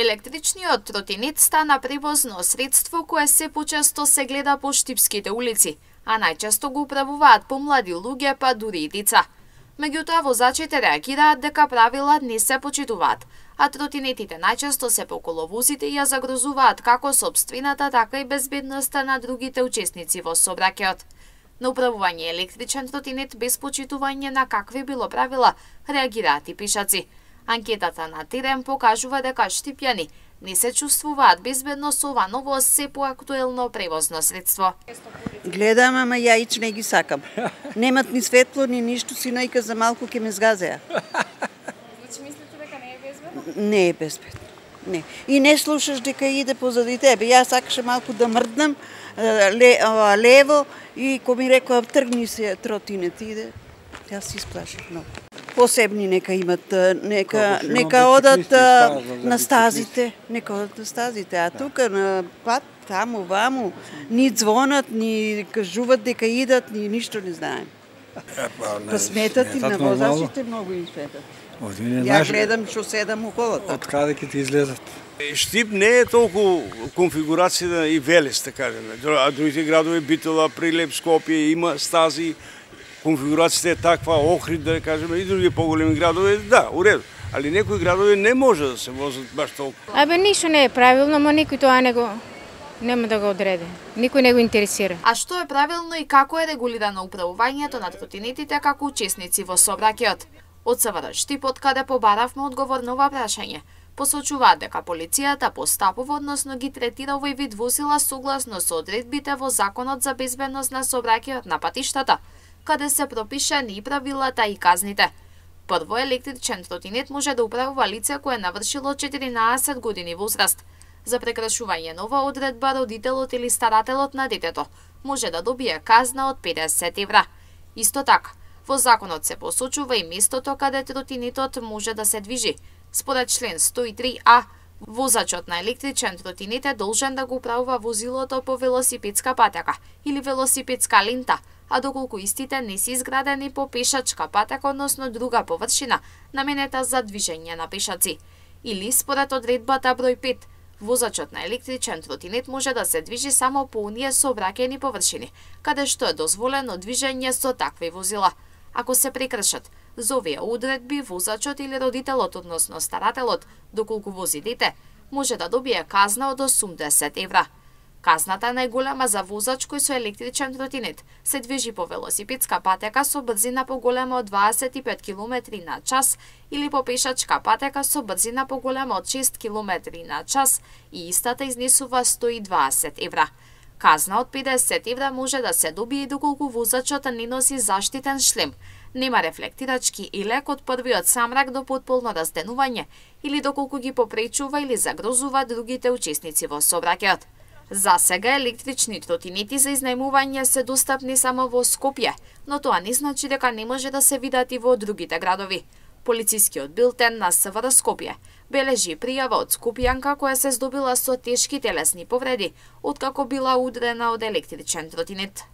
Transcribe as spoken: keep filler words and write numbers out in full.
Електричниот тротинет стана превозно средство кое се почесто се гледа по штипските улици, а најчесто го управуваат помлади луѓе, па дури и деца. Меѓутоа, возачите реагираат дека правила не се почитуваат, а тротинетите најчесто се по коловозите и ја загрозуваат како сопствената, така и безбедноста на другите учесници во сообраќајот. На управување електричен тротинет без почитување на какви било правила реагираат и пишаци. Анкетата на терен покажува дека штипјани не се чувствуваат безбедно со ова ново се поактуелно превозно средство. Гледам, ама јаич не ги сакам. Немат ни светло, ни ништо, синајка за малку ќе ме згазеа. Значи мислите дека не е безбедно? Не е безбедно. Не. И не слушаш дека иде позади тебе. Јас сакаше малку да мрднам ле, лево и ко ми рекоа тргни се тротинет иде, јас се исплашив многу. Посебни нека имат, нека нека одат на стазите, нека одат на стазите, а тука на пат таму ваму ни звонат, ни кажуваат дека идат, ни ништо не знаем. Па сметат и на возачите многу им сметат. Ја гледам што седам у колата. Од каде ќе ти излезат? Штип не е толку конфигурација и Велес, да кажеме. А другите градови, Битола, Прилеп, Скопје, има стази, конфигурацијата е таква, Охрид, да кажеме, и други поголеми градови, да, уреду. Али некои градови не може да се возат баш толку. Абе, ништо не е правилно, но никој тоа не го нема да го одреди. Никој не го интересира. А што е правилно и како е регулирано управувањето на тротинетите како учесници во сообраќајот? Од СВР Штип, од каде побаравме одговор на ова прашање, посочуваат дека полицијата постапува, односно ги третира овој вид возила согласно со одредбите во Законот за безбедност на сообраќајот на патиштата, каде се пропишани и правилата и казните. Прво, електричен тротинет може да управува лице кое навршило четиринаесет години возраст. За прекрашување на ова одредба, родителот или старателот на детето може да добие казна од педесет евра. Исто така, во законот се посочува и местото каде тротинетот може да се движи. Според член сто и три а, возачот на електричен тротинет е должен да го управува возилото по велосипедска патека или велосипедска лента, а доколку истите не се изградени по пешачка патека, односно друга површина наменета за движење на пешаци. Или според одредбата број пет, возачот на електричен тротинет може да се движи само по оние сообраќајни површини, каде што е дозволено движење со такви возила. Ако се прекршат за овие одредби, возачот или родителот, односно старателот, доколку вози дете, може да добие казна од осумдесет евра. Казната најголема за возач кој со електричен тротинет се движи по велосипедска патека со брзина поголема од дваесет и пет километри на час или по пешачка патека со брзина поголема од шест километри на час и истата изнесува сто и дваесет евра. Казна од педесет евра може да се добие и доколку возачот не носи заштитен шлем, нема рефлектирачки и лек од првиот самрак до потполно разденување или доколку ги попречува или загрозува другите учесници во сообраќајот. За сега електрични тротинети за изнајмување се достапни само во Скопје, но тоа не значи дека не може да се видат и во другите градови. Полицискиот билтен на СВР Скопје бележи пријава од скопјанка која се здобила со тешки телесни повреди откако била удрена од електричен тротинет.